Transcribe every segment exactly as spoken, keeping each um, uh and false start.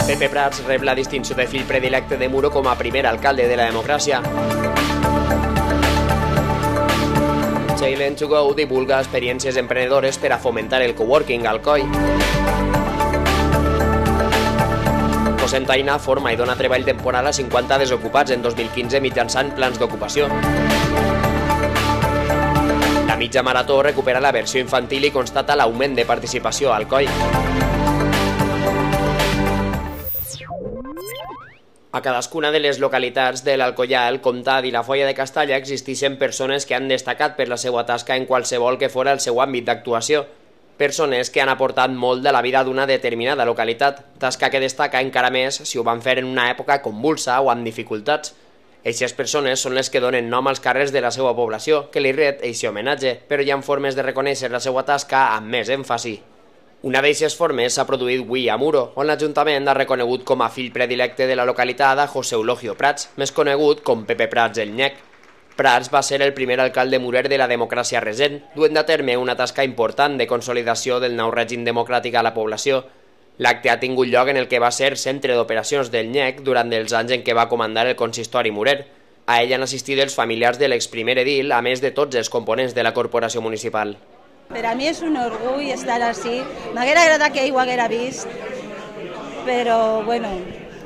Pepe Prats rep la distinció de fill predilecte de Muro com a primer alcalde de la democràcia. Chailen to Go divulga experiències emprenedores per a fomentar el coworking al C O I. Cosentaina forma i dona treball temporal a cinquanta desocupats en dos mil quinze mitjançant plans d'ocupació. La mitja marató recupera la versió infantil i constata l'augment de participació al C O I. A cadascuna de les localitats de l'Alcoià, el Comtat i la Foia de Castalla existeixen persones que han destacat per la seva tasca en qualsevol que fora el seu àmbit d'actuació. Persones que han aportat molt de la vida d'una determinada localitat, tasca que destaca encara més si ho van fer en una època convulsa o amb dificultats. Eixes persones són les que donen nom als carrers de la seva població, que li ret eixe homenatge, però hi ha formes de reconèixer la seva tasca amb més èmfasi. Una d'eixes formes s'ha produït avui a Muro, on l'Ajuntament ha reconegut com a fill predilecte de la localitat a José Eulogio Prats, més conegut com Pepe Prats el Nyec. Prats va ser el primer alcalde murer de la democràcia recent, duent a terme una tasca important de consolidació del nou règim democràtic a la població. L'acte ha tingut lloc en el que va ser centre d'operacions del Nyec durant els anys en què va comandar el consistori murer. A ell han assistit els familiars de l'exprimer edil, a més de tots els components de la corporació municipal. Per a mi és un orgull estar així. M'haguera agradat que ell ho haguera vist, però, bueno,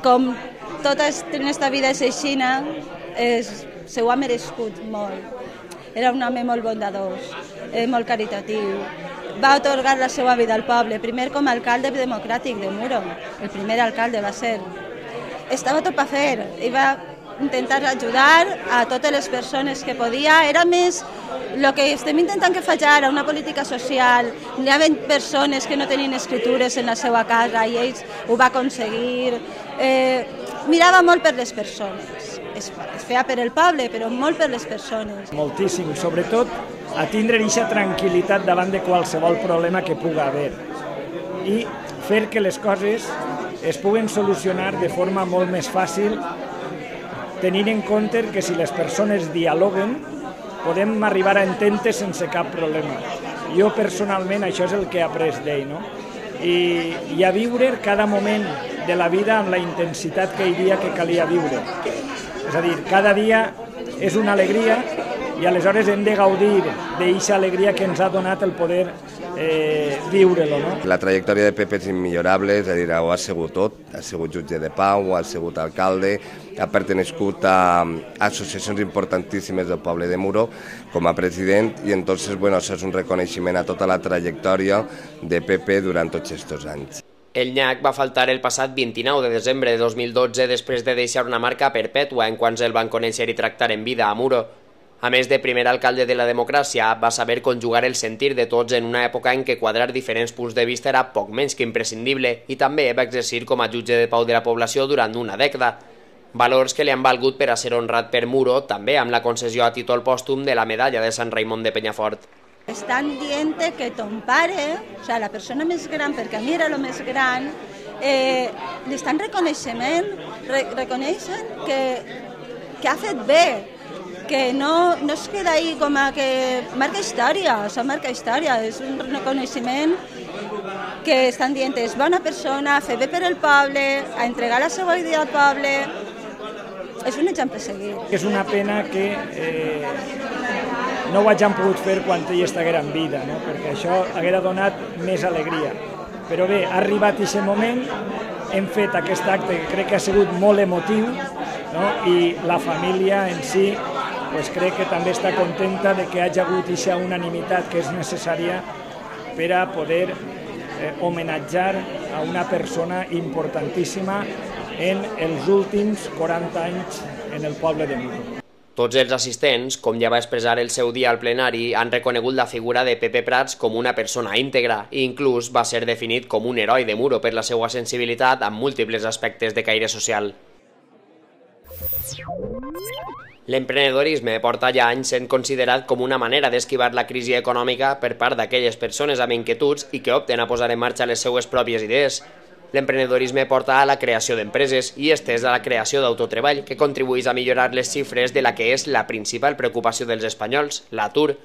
com tota aquesta vida és aixina, se ho ha merescut molt. Era un home molt bondadós, molt caritatiu. Va atorgar la seva vida al poble, primer com a alcalde democràtic de Muro. El primer alcalde va ser. Estava tot per fer, i va intentar ajudar a totes les persones que podia. Era més el que estem intentant que faig ara, una política social. Hi ha persones que no tenien escritures en la seva casa i ells ho va aconseguir. Eh, mirava molt per les persones. Es, es feia per el poble, però molt per les persones. Moltíssim, sobretot a tindre aquesta tranquil·litat davant de qualsevol problema que puga haver i fer que les coses es puguen solucionar de forma molt més fàcil, tenint en compte que si les persones dialoguen podem arribar a entendre sense cap problema. Jo personalment això és el que he après d'ell, no? I, i a viure cada moment de la vida amb la intensitat que hi havia que calia viure. És a dir, cada dia és una alegria i aleshores hem de gaudir d'aquesta alegria que ens ha donat el poder eh, viure-lo. No? La trajectòria de Pepe és immillorable, és a dir, ho ha sigut tot, ha sigut jutge de pau, ha sigut alcalde, ha pertenescut a associacions importantíssimes del poble de Muro com a president i entonces, bueno, això és un reconeixement a tota la trajectòria de Pepe durant tots aquests anys. El Nyec va faltar el passat vint-i-nou de desembre de dos mil dotze després de deixar una marca perpètua en quants el van conèixer i tractar en vida a Muro. A més de primer alcalde de la democràcia, va saber conjugar el sentir de tots en una època en què quadrar diferents punts de vista era poc menys que imprescindible i també va exercir com a jutge de pau de la població durant una dècada. Valors que li han valgut per a ser honrat per Muro, també amb la concessió a títol pòstum de la medalla de Sant Raimon de Penyafort. Estan dient que ton pare, o sigui, la persona més gran, perquè a mi era el més gran, eh, li estan reconeixement, re reconeixen que, que ha fet bé, que no, no es queda ahí com a que marca història, o sigui, marca història, és un reconeixement que estan dient és bona persona, fer bé per el poble, a entregar la seva idea al poble, és un exemple a seguir. És una pena que eh, no ho hagin pogut fer quan ell estiguera en vida, no? Perquè això haguera donat més alegria. Però bé, ha arribat aquest moment, hem fet aquest acte que crec que ha sigut molt emotiu, no? I la família en si pues, crec que també està contenta de que hagi hagut aquesta unanimitat que és necessària per a poder eh, homenatjar a una persona importantíssima en els últims quaranta anys en el poble de Muro. Tots els assistents, com ja va expressar el seu dia al plenari, han reconegut la figura de Pepe Prats com una persona íntegra i inclús va ser definit com un heroi de Muro per la seva sensibilitat amb múltiples aspectes de caire social. L'emprenedorisme porta ja anys sent considerat com una manera d'esquivar la crisi econòmica per part d'aquelles persones amb inquietuds i que opten a posar en marxa les seues pròpies idees. L'emprenedorisme porta a la creació d'empreses i estès a la creació d'autotreball, que contribueix a millorar les xifres de la que és la principal preocupació dels espanyols, l'atur.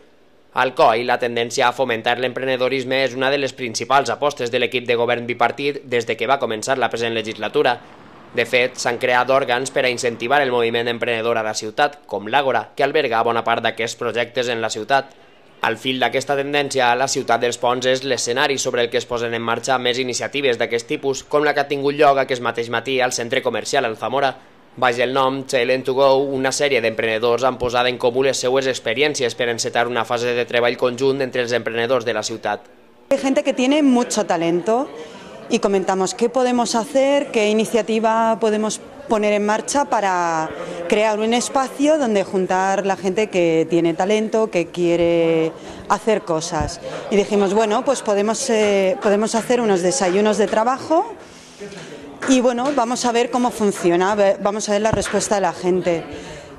Al C O I, la tendència a fomentar l'emprenedorisme és una de les principals apostes de l'equip de govern bipartit des de que va començar la present legislatura. De fet, s'han creat òrgans per a incentivar el moviment emprenedor a la ciutat, com l'Àgora, que alberga bona part d'aquests projectes en la ciutat. Al fil d'aquesta tendència, la ciutat dels Ponts és l'escenari sobre el que es posen en marxa més iniciatives d'aquest tipus, com la que ha tingut lloc aquest mateix matí al centre comercial Alzamora. Baix el nom Talent to Go, una sèrie d'emprenedors han posat en comú les seues experiències per encetar una fase de treball conjunt entre els emprenedors de la ciutat. Hay gente que tiene mucho talento y comentamos qué podemos hacer, qué iniciativa podemos poner en marcha para crear un espacio donde juntar la gente que tiene talento, que quiere hacer cosas. Y dijimos, bueno, pues podemos, eh, podemos hacer unos desayunos de trabajo y bueno, vamos a ver cómo funciona, vamos a ver la respuesta de la gente.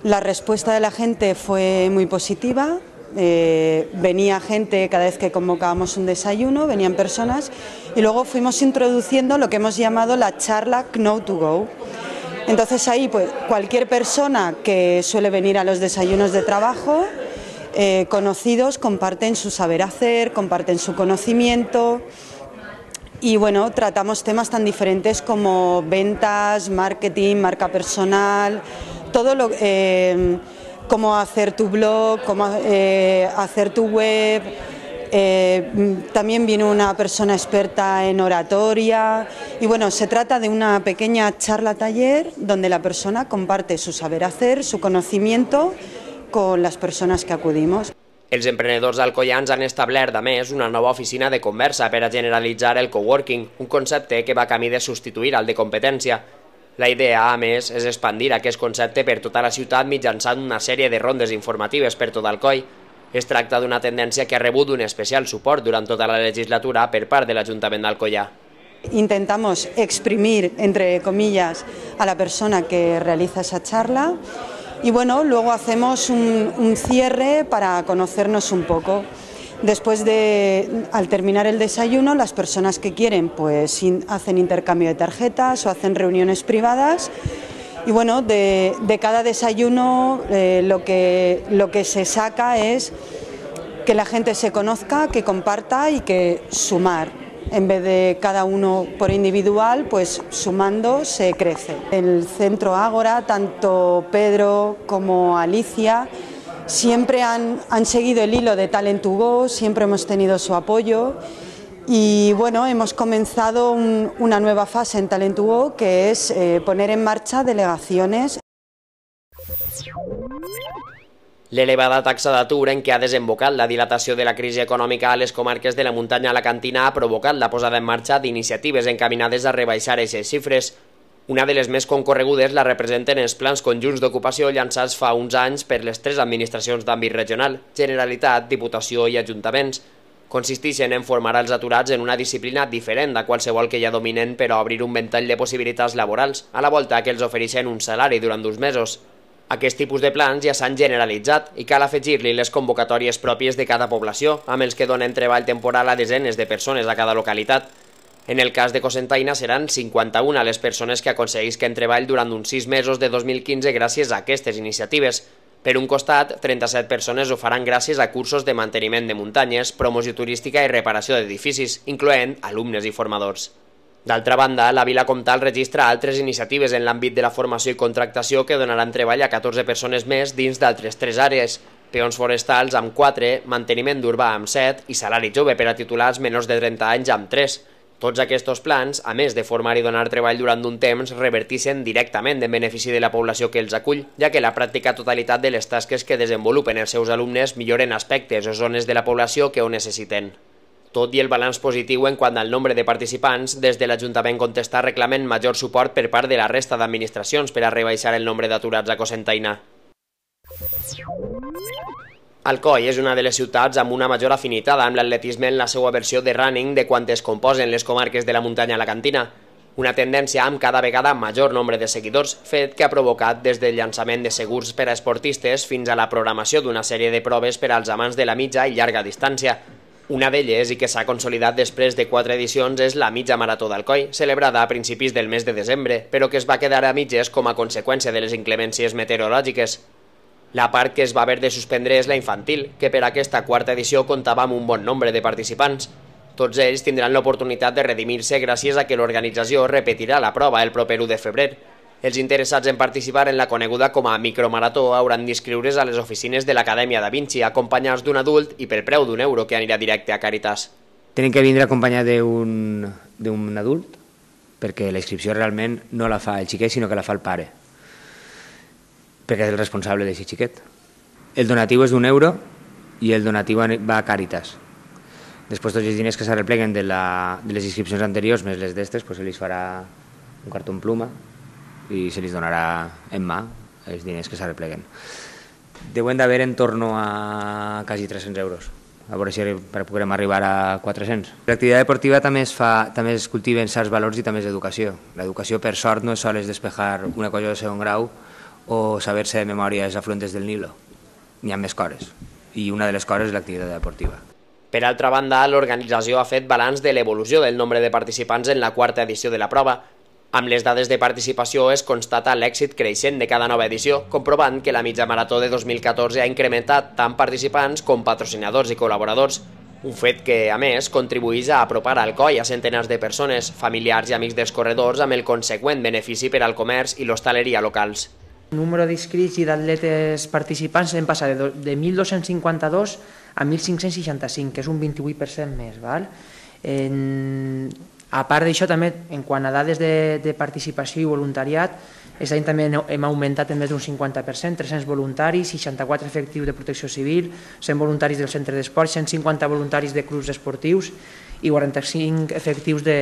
La respuesta de la gente fue muy positiva. Eh, venía gente cada vez que convocábamos un desayuno, venían personas y luego fuimos introduciendo lo que hemos llamado la charla Know to Go. Entonces ahí pues cualquier persona que suele venir a los desayunos de trabajo, eh, conocidos, comparten su saber hacer, comparten su conocimiento y bueno, tratamos temas tan diferentes como ventas, marketing, marca personal, todo lo eh, cómo hacer tu blog, cómo eh, hacer tu web. Eh, también vino una persona experta en oratoria y bueno, se trata de una pequeña charla taller donde la persona comparte su saber hacer, su conocimiento con las personas que acudimos. Els emprenedors alcoians han establert, a més, una nova oficina de conversa per a generalitzar el coworking, un concepte que va camí de substituir al de competència. La idea, a més, és expandir aquest concepte per tota la ciutat mitjançant una sèrie de rondes informatives per tot Alcoi. Es tracta d'una tendència que ha rebut un especial suport durant tota la legislatura per part de l'Ajuntament d'Alcoià. Intentamos exprimir, entre comillas, a la persona que realiza esa charla y bueno, luego hacemos un, un cierre para conocernos un poco. Después de, al terminar el desayuno, las personas que quieren pues in, hacen intercambio de tarjetas o hacen reuniones privadas y bueno, de, de cada desayuno eh, lo, que, lo que se saca es que la gente se conozca, que comparta y que sumar. En vez de cada uno por individual, pues sumando se crece. El Centro Ágora, tanto Pedro como Alicia, siempre han, han seguido el hilo de Talent to Go, siempre hemos tenido su apoyo y bueno, hemos comenzado un, una nueva fase en Talent to Go que es eh, poner en marcha delegaciones. L'elevada taxa d'atur en què ha desembocat la dilatació de la crisi econòmica a les comarques de la muntanya alacantina ha provocat la posada en marxa d'iniciatives encaminades a rebaixar aquestes xifres. Una de les més concorregudes la representen els plans conjunts d'ocupació llançats fa uns anys per les tres administracions d'àmbit regional, Generalitat, Diputació i Ajuntaments. Consisteixen en formar els aturats en una disciplina diferent de qualsevol que ja dominen per a obrir un ventall de possibilitats laborals, a la volta que els ofereixen un salari durant dos mesos. Aquest tipus de plans ja s'han generalitzat i cal afegir-li les convocatòries pròpies de cada població, amb els que donen treball temporal a desenes de persones a cada localitat. En el cas de Cocentaina seran cinquanta-una les persones que aconseguisquen treball durant uns sis mesos de dos mil quinze gràcies a aquestes iniciatives. Per un costat, trenta-set persones ho faran gràcies a cursos de manteniment de muntanyes, promoció turística i reparació d'edificis, incloent alumnes i formadors. D'altra banda, la Vila Comtal registra altres iniciatives en l'àmbit de la formació i contractació que donaran treball a catorze persones més dins d'altres tres àrees: peons forestals amb quatre, manteniment d'urbà amb set i salari jove per a titulars menors de trenta anys amb tres. Tots aquests plans, a més de formar i donar treball durant un temps, revertixen directament en benefici de la població que els acull, ja que la pràctica totalitat de les tasques que desenvolupen els seus alumnes milloren aspectes o zones de la població que ho necessiten. Tot i el balanç positiu en quant al nombre de participants, des de l'Ajuntament contesta reclamen major suport per part de la resta d'administracions per a rebaixar el nombre d'aturats a Cocentaina. Alcoi és una de les ciutats amb una major afinitat amb l'atletisme en la seva versió de running de quantes composen les comarques de la muntanya alacantina. una tendència amb cada vegada major nombre de seguidors, fet que ha provocat des del llançament de segurs per a esportistes fins a la programació d'una sèrie de proves per als amants de la mitja i llarga distància. Una d'elles, i que s'ha consolidat després de quatre edicions, és la mitja marató d'Alcoi, celebrada a principis del mes de desembre, però que es va quedar a mitges com a conseqüència de les inclemències meteorològiques. La part que es va haver de suspendre és la infantil, que per aquesta quarta edició comptava amb un bon nombre de participants. Tots ells tindran l'oportunitat de redimir-se gràcies a que l'organització repetirà la prova el proper u de febrer. Els interessats en participar en la coneguda com a micromarató hauran d'inscriure's a les oficines de l'Acadèmia Da Vinci acompanyats d'un adult i pel preu d'un euro que anirà directe a Càritas. Tenen que vindre acompanyat d'un adult perquè la inscripció realment no la fa el xiquet sinó que la fa el pare, perquè és el responsable d'aquest xiquet. El donatiu és d'un euro i el donatiu va a Càritas. Després tots els diners que s'arrepleguen de, la, de les inscripcions anteriors més les d'estes, pues se li farà un cartó en pluma i se li donarà en mà els diners que s'arrepleguen. Deuen d'haver en torno a quasi tres-cents euros, a veure si podrem arribar a quatre-cents. L'activitat deportiva també es, fa, també es cultiven certs valors i també és educació. L'educació, per sort, no és sols despejar una cosa de segon grau o saber-se de memòria els afluentes del Nilo. N'hi ha més coses, i una de les coses és l'activitat deportiva. Per altra banda, l'organització ha fet balanç de l'evolució del nombre de participants en la quarta edició de la prova. Amb les dades de participació es constata l'èxit creixent de cada nova edició, comprovant que la mitja marató de dos mil catorze ha incrementat tant participants com patrocinadors i col·laboradors, un fet que, a més, contribueix a apropar Alcoi a centenars de persones, familiars i amics dels corredors amb el conseqüent benefici per al comerç i l'hostaleria locals. El número d'inscrits i d'atletes participants hem passat de mil dos-cents cinquanta-dos a mil cinc-cents seixanta-cinc, que és un vint-i-vuit per cent més. Val? En... A part d'això, també, en quant a dades de, de participació i voluntariat, aquest any també hem augmentat en més d'un cinquanta per cent, tres-cents voluntaris, seixanta-quatre efectius de protecció civil, cent voluntaris del centre d'esport, cent cinquanta voluntaris de clubs esportius i quaranta-cinc efectius de,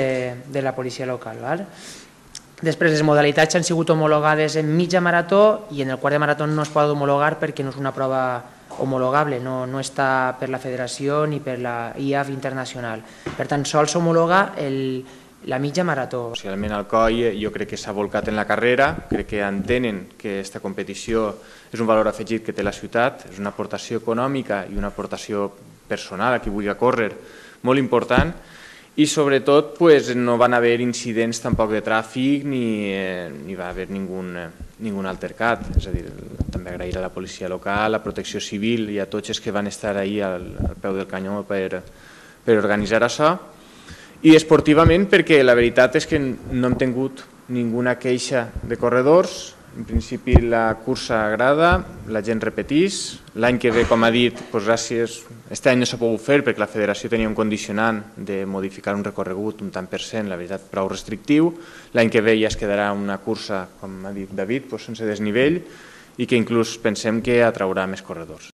de la policia local. Val? Després, les modalitats han sigut homologades en mitja marató i en el quart de marató no es pot homologar perquè no és una prova homologable, no, no està per la federació ni per la I A F internacional. Per tant, sols s'homologa la mitja marató. Realment Alcoi jo crec que s'ha volcat en la carrera, crec que entenen que aquesta competició és un valor afegit que té la ciutat, és una aportació econòmica i una aportació personal a qui vulgui córrer molt important, i sobretot pues, no van haver incidents tampoc de tràfic ni, eh, ni va haver ningú eh, altercat. És a dir, també agrair a la policia local, a Protecció Civil i a tots els que van estar ahí al, al peu del canyó per, per organitzar això. I esportivament perquè la veritat és que no hem tingut ninguna queixa de corredors. En principi la cursa agrada, la gent repetís. L'any que ve, com ha dit, doncs gràcies, aquest any no s'ha pogut fer perquè la federació tenia un condicionant de modificar un recorregut un tant per cent, la veritat, prou restrictiu. L'any que ve ja es quedarà una cursa, com ha dit David, doncs sense desnivell i que inclús pensem que atraurà més corredors.